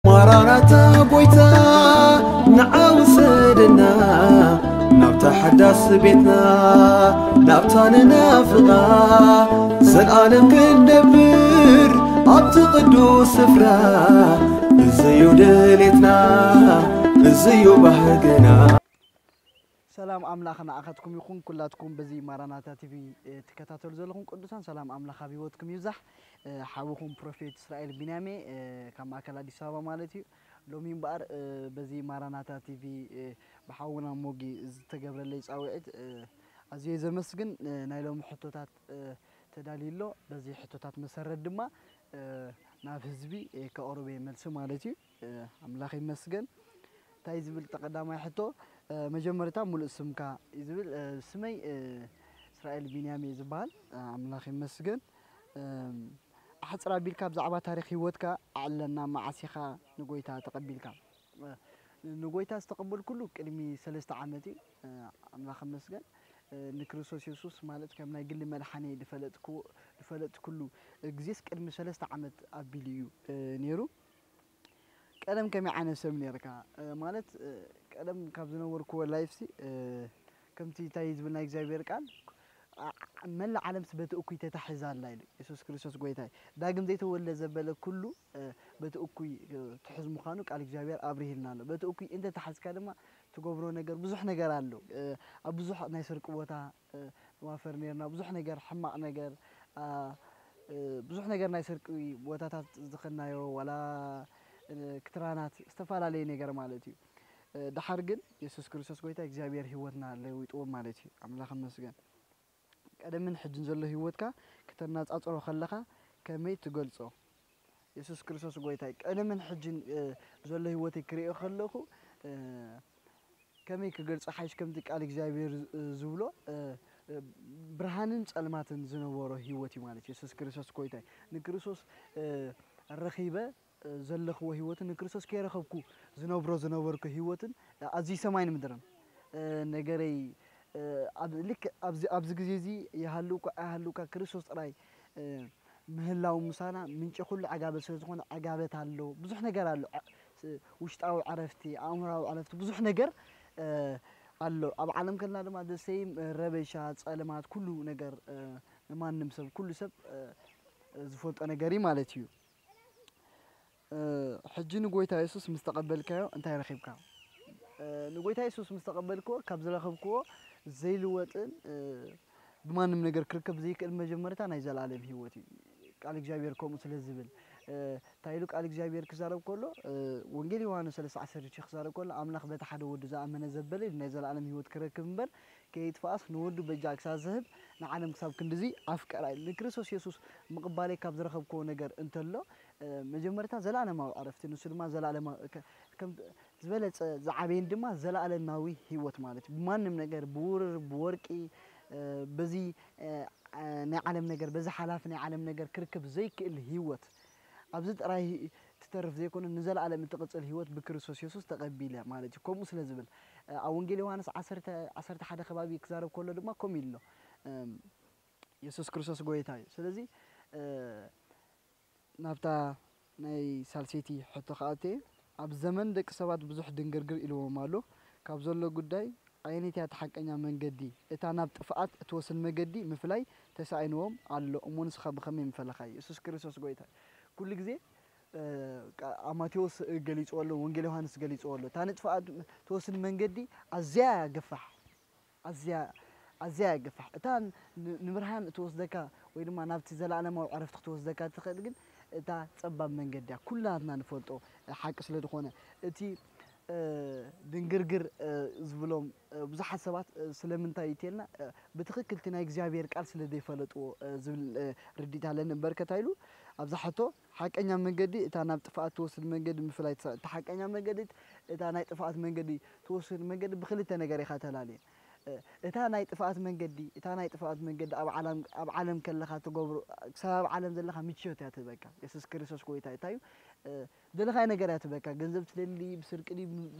ማራናታ ጎይታ ንዓ ውሰደና ናብታ ሓዳስ ቤትና ናብታ ንናፍቓ ዘልኣለም ክንነብር ኣብቲ ቅዱስ ስፍራ። እዝዩ ድሌትና እዝዩ ባህግና። ሰላም ኣምላኽ ንኣኻትኩም ይኹን። ኩላትኩም በዚ ማራናታ ቲቪ ትከታተሉ ዘለኹም ቅዱሳን ሰላም ኣምላኽ ኣብ ህይወትኩም ይብዛሕ። ሓውኹም ፕሮፌት እስራኤል ቢንያሜ ካብ ማእከል ኣዲስ ኣበባ ማለት እዩ። ሎሚ እምበኣር በዚ ማራናታ ቲቪ ብሓውና ሞጊ ዝተገብረለይ ጻውዒት ኣዝየ ዘመስግን። ናይ ሎሚ ሕቶታት ተዳልዩ ኣሎ። በዚ ሕቶታት መሰረት ድማ ናብ ህዝቢ ከቕርብ እየ መልሲ ማለት እዩ። ኣምላኽ ይመስገን። እንታይ ዝብል ቀዳማይ ሕቶ መጀመርታ ሙሉእ ስምካ እዩ ዝብል። ስመይ እስራኤል ቢንያም እየ ዝበሃል። ኣምላኽ ይመስገን። ኣሕፅር ኣቢልካ ብዛዕባ ታሪክ ህይወትካ ኣዕለና። መዓስ ኢኻ ንጎይታ ተቐቢልካ? ንጎይታ ዝተቐበልኩሉ ቅድሚ ሰለስተ ዓመት እዩ። ኣምላኽ ይመስገን። ንክርስቶስ የሱስ ማለት ከም ናይ ግሊ መድሓኒ ዝፈለጥኩሉ ግዜስ ቅድሚ ሰለስተ ዓመት ኣቢሉ እዩ ነይሩ። ቀደም ከመይ ዓይነት ሰብ ነርካ? ማለት ቀደም ካብ ዝነበርክዎ ላይፍሲ ከምቲ እንታይ ዝብል ናይ እግዚኣብሔር ቃል መላእ ዓለምስ በቲ እኩይ ተታሒዛ ኣላ ኢሉ የሱስ ክርስቶስ ጎይታይ። ዳግም ዘይተወልደ ዘበለ ኩሉ በቲ እኩይ ትሑዝ ምዃኑ ቃል እግዚኣብሔር ኣብሪህልና ኣሎ። በቲ እኩይ እንተተሓዝካ ድማ ትገብሮ ነገር ብዙሕ ነገር ኣሎ። ኣብ ብዙሕ ናይ ስርቂ ቦታ ንዋፈር ነርና። ብዙሕ ነገር ሕማቕ ነገር ብዙሕ ነገር ናይ ስርቂ ቦታታት ዝኸናዮ ዋላ ክትራናት ዝተፈላለየ ነገር ማለት እዩ። ድሓር ግን የሱስ ክርስቶስ ጎይታ እግዚኣብሔር ህይወትና ለዊጥዎ ማለት እዩ። ኣምላኽ ይመስገን። ቀደምን ሕጅን ዘሎ ህይወትካ ክተናጻጽሮ ከለኻ ከመይ ትገልጾ? የሱስ ክርስቶስ ጎይታይ ቀደምን ሕጅን ዘሎ ህይወተይ ክርእዮ ከለኹ ከመይ ክገልጾ ሓይሽ ከምቲ ቃል እግዚኣብሔር ዝብሎ ብርሃንን ጸልማትን ዝነበሮ ህይወት እዩ ማለት እዩ። የሱስ ክርስቶስ ጎይታይ ንክርስቶስ ረኺበ ዘለኽዎ ህይወትን ንክርስቶስ ከይረኸብኩ ዝነብሮ ዝነበርኩ ህይወትን ኣዝዩ ሰማይን ምድርን ነገረይ ልክ ኣብዚ ግዜ እዚ ይሃልውካ ኣይሃልውካ ክርስቶስ ጥራይ ምህላው ምሳና ምንጪ ኩሉ ዕጋበት ስለ ዝኾነ ዕጋበት ኣሎ። ብዙሕ ነገር ኣሎ። ውሽጣዊ ዕረፍቲ፣ ኣእምራዊ ዕረፍቲ ብዙሕ ነገር ኣሎ። ኣብ ዓለም ከለና ድማ ደሰይም ረበሻ፣ ጸለማት፣ ኩሉ ነገር ንማንም ሰብ ኩሉ ሰብ ዝፈልጦ ነገር እዩ ማለት እዩ። ሕጂ ንጎይታ የሱስ ምስ ተቐበልካዮ እንታይ ረኺብካ? ንጎይታ የሱስ ምስ ተቐበልክዎ ካብ ዝረኸብክዎ ዘይልወጥን ብማንም ነገር ክርከብ ዘይክእል መጀመርታ ናይ ዘለኣለም ህይወት እዩ። ቃል እግዚኣብሔር ከምኡ ስለ ዝብል እንታይ ኢሉ ቃል እግዚኣብሔር ክዛረብ ከሎ ወንጌል ዮሃንስ ሰለስተ ዓሰርተ ክዛረብ ከሎ ኣምላኽ በቲ ሓደ ወዱ ዝኣመነ ዘበለ ኢሉ ናይ ዘለኣለም ህይወት ክረክብ እምበር ከይጥፋኣስ ንወዱ በጃ ክሳብ ዝህብ ንዓለም ክሳብ ክንድዚ ኣፍቀራ ኢሉ። ንክርስቶስ የሱስ ምቕባለይ ካብ ዝረኸብክዎ ነገር እንተሎ መጀመርታ ዘለኣለማዊ ዕረፍቲ ንሱ ድማ ዘለኣለማዊ ዝበለፀ ዝዓበየን ድማ ዘለኣለማዊ ህይወት ማለት እዩ። ብማንም ነገር ብውርር ብወርቂ በዚ ናይ ዓለም ነገር በዚ ሓላፊ ናይ ዓለም ነገር ክርከብ ዘይክእል ህይወት ኣብዚ ጥራይ ትተርፍ ዘይኮነ ንዘለኣለም እትቕፅል ህይወት ብክርስቶስ የሱስ ተቐቢለ ማለት እዩ። ከምኡ ስለ ዝብል ኣብ ወንጌል ዮሃንስ ዓሰርተ ሓደ ከባቢ ክዛረብ ከሎ ድማ ከምኡ ኢሉ ኣሎ። የሱስ ክርስቶስ ጎይታ እዩ። ስለዚ ናብታ ናይ ሳልሰይቲ ሕቶ ክኣቱ እየ። ኣብ ዘመን ደቂ ሰባት ብዙሕ ድንግርግር ኢልዎም ኣሎ። ካብ ዘሎ ጉዳይ ኣየነይቲ እያ እቲ ሓቀኛ መንገዲ? እታ ናብ ጥፍኣት እትወስድ መገዲ ምፍላይ ተሳኢንዎም ኣሎ እሞ ንስኻ ብኸመይ ምፈለኻዮ? የሱስ ክርስቶስ ጎይታ እዩ። ኩሉ ግዜ ኣብ ማቴዎስ ገሊፅዎ ኣሎ፣ ወንጌል ዮሃንስ ገሊፅዎ ኣሎ። እታ ንጥፍኣት ትወስድ መንገዲ ኣዝያ እያ ገፋሕ። ኣዝያ ኣዝያ እያ ገፋሕ። እታ ንብርሃን እትወስደካ ወይ ድማ ናብቲ ዘለኣለማዊ ዕረፍቲ ክትወስደካ ትኽእል ግን እታ ጸባብ መንገዲ እያ። ኩላትና ንፈልጦ ሓቂ ስለ ዝኾነ እቲ ድንግርግር ዝብሎም ብዙሓት ሰባት ስለምንታይ ይቴልና ብትኽክል እቲ ናይ እግዚኣብሔር ቃል ስለ ዘይፈለጥዎ ዝብል ርዲት ኣለኒ እምበር ከታ ኢሉ ኣብዛ ሕቶ ሓቀኛ መንገዲ እታ ናብ ጥፍኣት ትወስድ መንገዲ ምፍላይ ትሳ እታ ሓቀኛ መንገዲ እታ ናይ ጥፍኣት መንገዲ ትወስድ መንገዲ ብክልተ ነገር ኢኻ ተላልየ እታ ናይ ጥፍኣት መንገዲ እታ ናይ ጥፍኣት መንገዲ ኣብ ዓለም ኣብ ዓለም ከለኻ ትገብሮ ክሳብ ኣብ ዓለም ዘለኻ ምችዮት እያ ትህበካ የሱስ ክርስቶስ ጎይታ እንታይ እዩ ዝደለኻዮ ነገር እያ ትህበካ ገንዘብ ትደሊ ብስርቂ ድዩ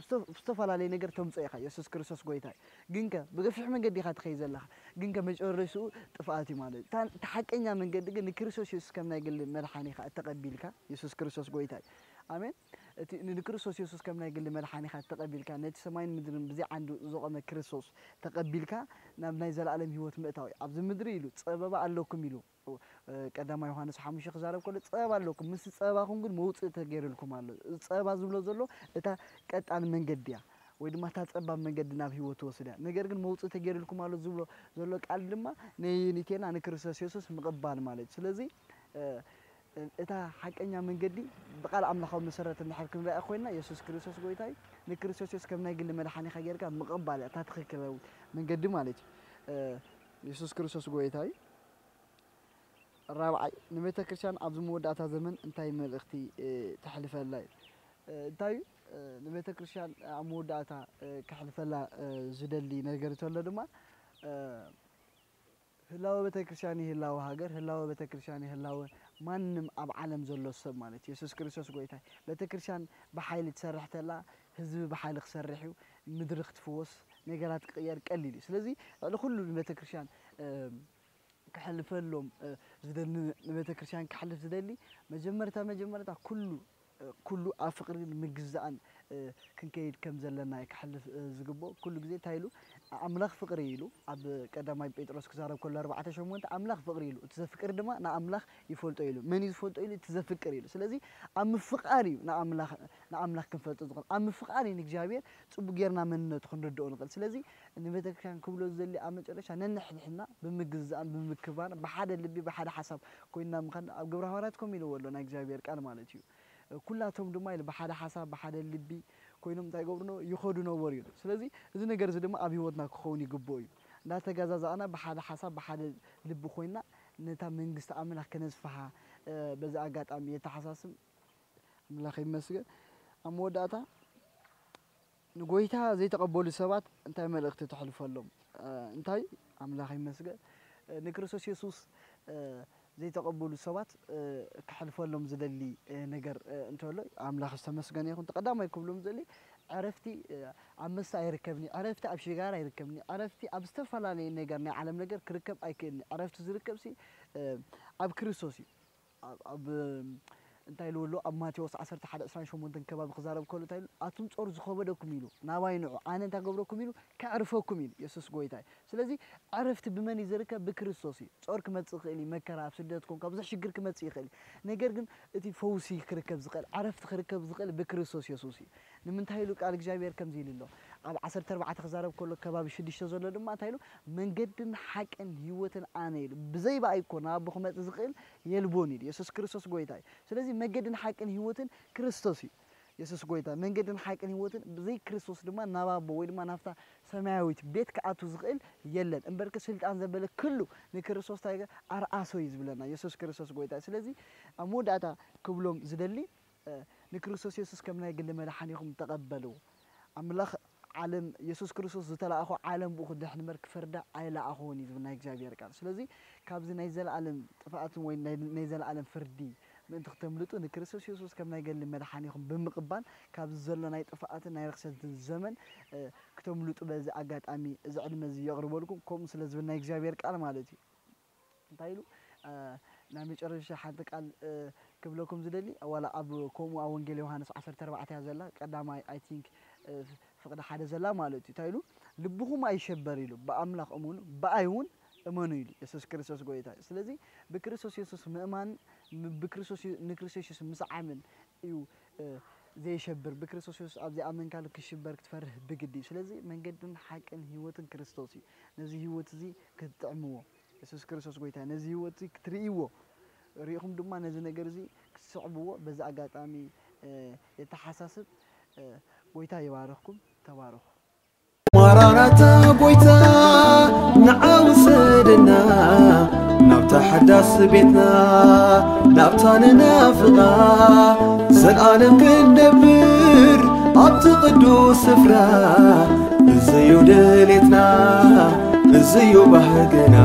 ብዝተፈላለየ ነገር ተምፅኦ ኢኻ የሱስ ክርስቶስ ጎይታ እዩ ግንከ ብገፊሕ መንገዲ ኢኻ ትኸይ ዘለኻ ግንከ መጨረሽኡ ጥፍኣት እዩ ማለት እዩ እታ ሓቀኛ መንገዲ ግን ንክርስቶስ የሱስ ከም ናይ ግሊ መድሓኒ ኢኻ እተቐቢልካ የሱስ ክርስቶስ ጎይታ እዩ ኣሜን እቲ ንክርስቶስ የሱስ ከም ናይ ግሊ መድሓኒኻ ተቐቢልካ፣ ነቲ ሰማይን ምድርን ብዘይ ዓንዱ ዘቖመ ክርስቶስ ተቐቢልካ፣ ናብ ናይ ዘለኣለም ህይወት ምእታው እዩ። ኣብዚ ምድሪ ኢሉ፣ ጸበባ ኣለኩም ኢሉ፣ እ፣ ቀዳማይ ዮሃንስ ሓሙሽተ ክዛረብ ከሎ፣ "ጸበባ ኣለኩም፣ ምስ ጸበባኹም ግን መውጽኢ ተገይሩልኩም ኣሎ።" እዚ ጸበባ ዝብሎ ዘሎ እታ ቀጣን መንገዲ እያ፣ ወይ ድማ እታ ጸባብ መንገዲ ናብ ህይወት ትወስድ እያ። ነገር ግን መውጽኢ ተገይሩልኩም ኣሎ ዝብሎ ዘሎ ቃል ድማ ነየኒቴና ንክርስቶስ የሱስ ምቕባል ማለት እዩ። ስለዚ፣ እ፣ እታ ሓቀኛ መንገዲ ብቃል ኣምላኻዊ መሰረት እንድሕር ክንሪኣ ኮይና፣ የሱስ ክርስቶስ ጎይታ እዩ። ንክርስቶስ የሱስ ከም ናይ ግሊ መድሓኒኻ ጌርካ ምቕባል እያ እታ ትኽክላዊ መንገዲ ማለት እዩ። እ፣ የሱስ ክርስቶስ ጎይታ እዩ። ራብዓይ፣ ንቤተ ክርስቲያን ኣብዚ መወዳእታ ዘመን እንታይ መልእኽቲ፣ እ፣ ተሕልፈላ እዩ? እ፣ እንታይ እዩ፣ እ፣ ንቤተ ክርስቲያን ኣብ መወዳእታ፣ እ፣ ከሕልፈላ፣ እ፣ ዝደሊ ነገር እንተሎ ድማ፣ እ፣ ህላወ ቤተ ክርስቲያን ይህላወ ሃገር፣ ህላወ ቤተ ክርስቲያን ይህላወ ማንም ኣብ ዓለም ዘሎ ሰብ ማለት እዩ። የሱስ ክርስቶስ ጎይታ እዩ። ቤተ ክርስቲያን ብሓይሊ ትሰርሕ ተላ፣ ህዝቢ ብሓይሊ ክሰርሕ እዩ፣ ምድሪ ክትፍወስ፣ ነገራት ክቕየር ቀሊል እዩ። ስለዚ ልዕሊ ኩሉ ንቤተ ክርስቲያን፣ እ፣ ክሕልፈሎም፣ እ፣ ዝደሊ፣ ንቤተ ክርስቲያን ክሕልፍ ዝደሊ መጀመርታ፣ መጀመርታ ኩሉ፣ እ፣ ኩሉ ኣብ ፍቕርን ምግዛእን፣ እ፣ ክንከይድ ከም ዘለና እዩ ክሕልፍ፣ እ፣ ዝግብኦ። ኩሉ ግዜ እንታይ ኢሉ? ኣምላኽ ፍቕሪ ኢሉ ኣብ ቀዳማይ ጴጥሮስ ክዛረብ ከሎ ኣርባዕተ ሸሞንተ ኣምላኽ ፍቕሪ ኢሉ፣ እቲ ዘፍቅር ድማ ንኣምላኽ ይፈልጦ ኢሉ። መን እዩ ዝፈልጦ ኢሉ? እቲ ዘፍቅር ኢሉ። ስለዚ ኣብ ምፍቃር እዩ ንኣምላኽ፣ ንኣምላኽ ክንፈልጦ ዝኽእል። ኣብ ምፍቃር እዩ ንእግዚኣብሔር ጽቡቅ ጌርና መንነቱ ክንርድኦ ንኽእል። ስለዚ ንቤተክርስትያን ክብሎ ዝደሊ ኣብ መጨረሻ ነንሕድሕድና ብምግዛእን ብምክባር ብሓደ ልቢ ብሓደ ሓሳብ ኮይንና ምኻድ ኣብ ግብረ ሃዋርያት ከምኡ ኢልዎ ኣሎ ናይ እግዚኣብሔር ቃል ማለት እዩ። ኩላቶም ድማ ኢሉ ብሓደ ሓሳብ ብሓደ ልቢ ኮይኖም እንታይ ይገብሩ ነበሩ? ይኸዱ ነበሩ ኢሉ። ስለዚ እዚ ነገር እዚ ድማ ኣብ ህይወትና ክኸውን ይግብኦ እዩ። እንዳተገዛዛእና ብሓደ ሓሳብ ብሓደ ልቢ ኮይንና ነታ መንግስቲ ኣምላኽ ከነስፍሓ፣ እ፣ በዚ ኣጋጣሚ የተሓሳስብ። ኣምላኽ ይመስገን። ኣብ መወዳእታ ንጎይታ ዘይተቐበሉ ሰባት እንታይ መልእኽቲ ተሕልፈሎም? እ፣ እንታይ? ኣምላኽ ይመስገን። እ፣ ንክርስቶስ የሱስ፣ እ፣ ዘይተቐበሉ ሰባት፣ እ፣ ክሕልፈሎም ዝደሊ፣ እ፣ ነገር፣ እ፣ እንተሎ ኣምላኽ ዝተመስገነ ይኹን። እቲ ቀዳማይ ክብሎም ዝደሊ ዕረፍቲ፣ እ፣ ኣብ መስተ ኣይርከብኒ፣ ዕረፍቲ ኣብ ሽጋራ ኣይርከብኒ፣ ዕረፍቲ ኣብ ዝተፈላለየ ነገር ናይ ዓለም ነገር ክርከብ ኣይክእልኒ። ዕረፍቲ ዝርከብሲ፣ እ፣ ኣብ ክርስቶስ እዩ። ኣብ፣ ኣብ፣ እንታይ ኢልዎ ኣሎ? ኣብ ማቴዎስ ዓሰርተ ሓደ ዕስራን ሸሞንተን ከባቢ ክዛረብ ከሎ እንታይ ኢሉ? "ኣቱም ጾር ዝኸበደኩም" ኢሉ፣ "ናባይ ንዑ፣ ኣነ እንታይ ገብረኩም?" ኢሉ፣ "ከዕርፈኩም" ኢሉ። የሱስ ጎይታ እዩ። ስለዚ ዕረፍቲ ብመን እዩ ዝርከብ? ብክርስቶስ እዩ። ጾር ክመጽእ ይኽእል እዩ፣ መከራ፣ ኣብ ስደት ኮንካ ብዙሕ ሽግር ክመጽእ ይኽእል እዩ። ነገር ግን እቲ ፈውሲ ክርከብ ዝኽእል፣ ዕረፍቲ ክርከብ ዝኽእል ብክርስቶስ የሱስ እዩ። ንምንታይ ኢሉ ቃል እግዚኣብሔር ከምዚ ኢሉ ኣሎ? ኣብ ዓሰርተ ኣርባዕተ ክዛረብ ከሎ ከባቢ ሽዱሽተ ዘሎ ድማ እንታይ ኢሉ? "መንገድን ሓቅን ህይወትን ኣነ" ኢሉ። "ብዘይ ብኣይ እኮ ናብ ኣቦ ክመጽእ ዝኽእል የልቦን" ኢሉ። የሱስ ክርስቶስ ጎይታ እዩ። ስለዚ መገድን ሓቅን ህይወትን ክርስቶስ እዩ። የሱስ ጎይታ መንገድን ሓቅን ህይወትን፣ ብዘይ ክርስቶስ ድማ ናብ ኣቦ ወይ ድማ ናብታ ሰማያዊት ቤት ክኣቱ ዝኽእል የለን። እምበርከ ስልጣን ዘበለ ክሉ ንክርስቶስ እንታይ ይገ-፣ ኣርኣሶ እዩ ዝብለና የሱስ ክርስቶስ ጎይታ። ስለዚ ኣብ መወዳእታ ክብሎም ዝደሊ፣ እ፣ ንክርስቶስ የሱስ ከም ናይ ግሊ መድሓኒኹም ተቐበሉ። ኣምላኽ ዓለም፣ የሱስ ክርስቶስ ዝተላእኾ ዓለም ብኡ ክድሕን እምበር ክፈርዳ ኣይለኣኾን እዩ ዝብል ናይ እግዚኣብሔር ቃል። ስለዚ ካብዚ ናይ ዘለኣለም ጥፍኣትን ወይ ናይ፣ ናይ ዘለኣለም ፍርዲ ምእንቲ ክተምልጡ ንክርስቶስ የሱስ ከም ናይ ገሊ መድሓኒኹም ብምቕባል ካብዚ ዘሎ ናይ ጥፍኣትን ናይ ርኽሰትን ዘመን፣ እ፣ ክተምልጡ በዚ ኣጋጣሚ እዚ ዕድመ እዚ የቕርበልኩም። ከምኡ ስለ ዝብል ናይ እግዚኣብሔር ቃል ማለት እዩ። እንታይ ኢሉ? እ፣ ናይ መጨረሻ ሓንቲ ቃል፣ እ፣ ክብለኩም ዝደሊ፣ ዋላ ኣብ ከምኡ ኣብ ወንጌል ዮሃንስ ዓሰርተ ኣርባዕተ እያ ዘላ፣ ቀዳማይ፣ I think፣ እ፣ ፍቕዲ ሓደ ዘላ ማለት እዩ። እንታይ ኢሉ? "ልብኹም ኣይሸበር" ኢሉ፣ "ብኣምላኽ እመኑ፣ ብኣይ እውን እመኑ" ኢሉ የሱስ ክርስቶስ ጎይታ እዩ። ስለዚ ብክርስቶስ የሱስ ምእማን፣ ም-፣ ብክርስቶስ የ-፣ ንክርስቶስ የሱስ ምስዓምን እዩ፣ እ፣ ዘየሸብር። ብክርስቶስ የሱስ ኣብ ዘይኣመንካሉ ክሽበር ክትፈርህ ብግዲ እዩ። ስለዚ መንገድን ሓቅን ህይወትን ክርስቶስ እዩ። ነዚ ህይወት እዚ ክትጥዕምዎ፣ የሱስ ክርስቶስ ጎይታ እዩ። ነዚ ህይወት እዚ ክትርእይዎ፣ ርኢኹም ድማ ነዚ ነገር እዚ ክትስዕብዎ በዚ ኣጋጣሚ፣ እ፣ የተሓሳስብ። እ፣ ጎይታ ይባርኽኩም። ተባረኹ። ማራናታ ጎይታ ንዓ ውሰደና ናብታ ሓዳስ ቤትና ናብታ ንናፍቓ ዘልኣለም ክንነብር ኣብቲ ቅዱስ ስፍራ። እዚዩ ድሌትና እዚዩ ባህግና።